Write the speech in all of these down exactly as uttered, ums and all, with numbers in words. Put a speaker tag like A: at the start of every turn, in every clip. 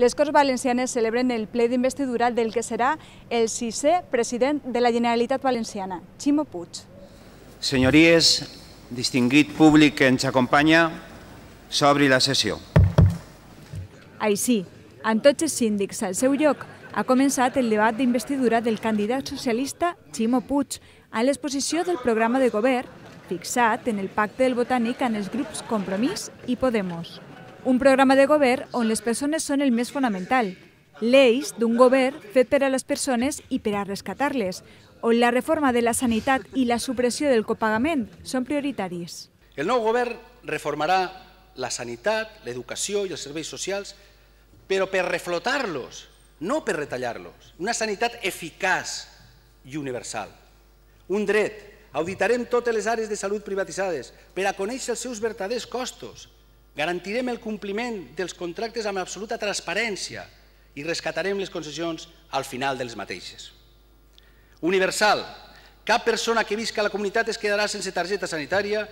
A: Les Corts Valencianes celebren el ple d'investidura del que serà el sisè president de la Generalitat Valenciana, Ximo Puig.
B: Senyories, distingit públic que ens acompanya, s'obri la sessió.
A: Així, amb tots els síndics al seu lloc, ha començat el debat d'investidura del candidat socialista Ximo Puig a l'exposició del programa de govern fixat en el pacte del Botànic amb els grups Compromís i Podemos. Un programa de govern on les persones són el més fonamental, l'eix d'un govern fet per a les persones i per a rescatar-les, on la reforma de la sanitat i la supressió del copagament són prioritaris.
C: El nou govern reformarà la sanitat, l'educació i els serveis socials, però per reflotar-los, no per retallar-los. Una sanitat eficaç i universal. Un dret. Auditarem totes les àrees de salut privatitzades per a conèixer els seus verdaders costos. Garantirem el compliment dels contractes amb absoluta transparència i rescatarem les concessions al final dels mateixes. Universal. Cap persona que visca a la comunitat es quedarà sense targeta sanitària,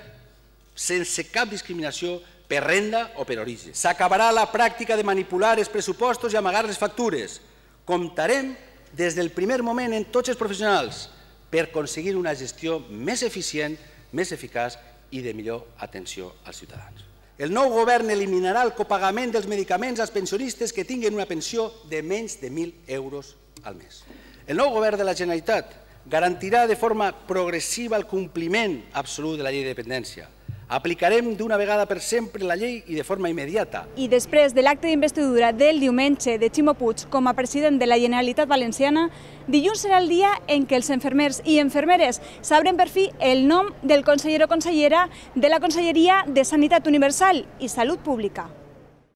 C: sense cap discriminació per renda o per origen. S'acabarà la pràctica de manipular els pressupostos i amagar les factures. Comptarem des del primer moment en tots els professionals per aconseguir una gestió més eficient, més eficaç i de millor atenció als ciutadans. El nou govern eliminarà el copagament dels medicaments als pensionistes que tinguin una pensió de menys de mil euros al mes. El nou govern de la Generalitat garantirà de forma progressiva el compliment absolut de la llei de dependència. Aplicarem d'una vegada per sempre la llei i de forma immediata.
A: I després de l'acte d'investidura del diumenge de Ximo Puig com a president de la Generalitat Valenciana, dilluns serà el dia en què els infermers i infermeres sabran per fi el nom del conseller o consellera de la Conselleria de Sanitat Universal i Salut Pública.